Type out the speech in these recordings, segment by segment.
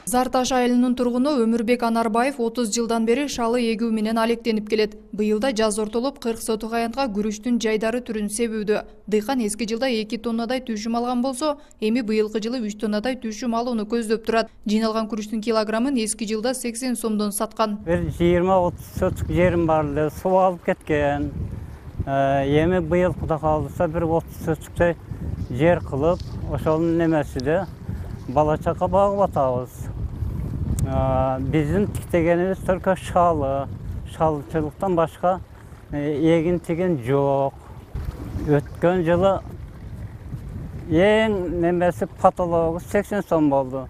Зар Таш айылынын тургуну Өмүрбек Анарбаев 30 жылдан бери шалы эгүү менен алектенип келет. Быйылда жаз ортолуп 40 сотук аянтка күрүчтүн жайдары түрүн себүүдө. Дыйкан эски жылда 2 тоннадай түшүм алган болсо, эми быйылкы жылы 3 тоннадай түшүм алууну көздөп турат. Жыйналган күрүчтүн килограммын эски жылда 80 сомдон саткан. Бир 20-30 сотук жерим бар эле, суу алып кеткен. Эми быйыл Кудай кааласа бир 30 сотуктай жер кылып, ошонун немесиде бала чака багып атабыз. Биздин тиктегенибиз только шалчылыктан башка эгин тиген жок. Өткөн жылы эң немеси потологу 80 сом болду.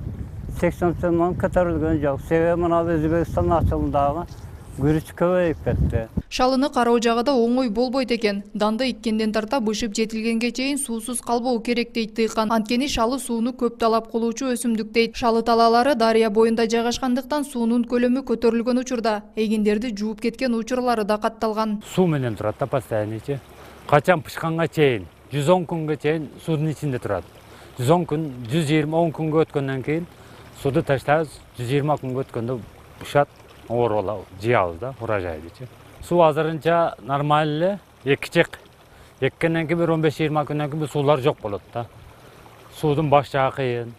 80 сомдон көтөрүлгөн жок. Себеби мына Өзбекстан ачылымдагы күрүч көбөйүп кетти. Шалыны кароо жагыда оңой болбойт экен. Данды иккенден тарта бышып жетилгенге чейин суусуз калбоо керек дейт дыйкан. Анткени шалы сууну көп талап кылуучу өсүмдүк дейт. Шалы талаалары дарыя боюнда жайгашкандыктан суунун көлөмү көтөрүлгөн учурда эгиндерди жууп кеткен учурлары да катталган. Суу менен турат да постояннычы. Качан пышканга чейин 110 күнгө чейин суунун ичинде турат. 110 күн, 120 күнгө өткөндөн кийин сууду таштайбыз. 120 күнгө өткөндө бушат. Оролау, жиябыз да, урожайдычы. Суу азырынча нормально эле, экичек. Эккенден кийин 15-20 күндөн кийин суулар жок болот да. Суудун баш жагы кыйын.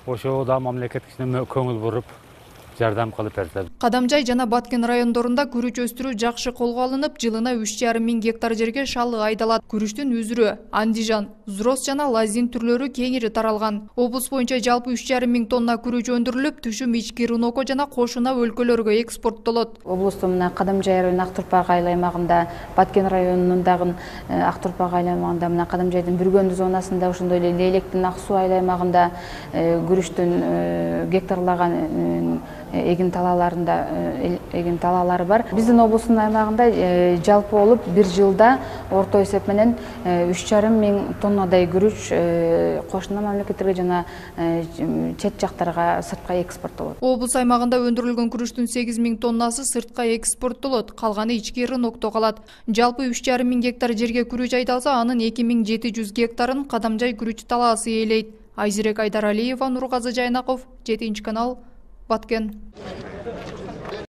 Ошого да мамлекет кичине көңүл буруп, жардам кылып берсе. Кадамжай жана Баткен райондорунда күрүч өстүрүү жакшы колго алынып, жылына 3,5 миң гектар жерге шалы айдалат. Күрүчтүн үзүрү, андижан, зрос жана лазин түрлөрү кеңири таралган. Облус боюнча жалпы 3,5 миң тонна күрүч өндүрүлүп, түшүм ички Рыноко жана кошуна өлкөлөргө экспорттолот. Облустун мына Кадамжай районунун Актурпак айыл аймагында, Баткен районунун дагы Актурпак айыл аймагында, мына Кадамжайдын Бүргөндү зонасында, ошондой эле Лейлектин Ак Суу айыл аймагында күрүчтүн гектарлаган эгин талаалары бар. Биздин облустун аймагында жалпы болуп бир жылда орто эсеп менен 3,5 миң тоннадай күрүч кошуна мамлекеттерге жана чет жактарга сыртка экспорттолот. Облус аймагында өндүрүлгөн күрүчтүн 8 миң тоннасы сыртка экспорттолот, калганы ички Рынокто калат. Жалпы 3,5 миң гектар жерге күрүч айдалса, анын 2700 гектарын Кадамжай күрүч талаасы ээлейт. Айзирек Айдаралиева, Нургазы Жайнаков, 7 канал, Баткен.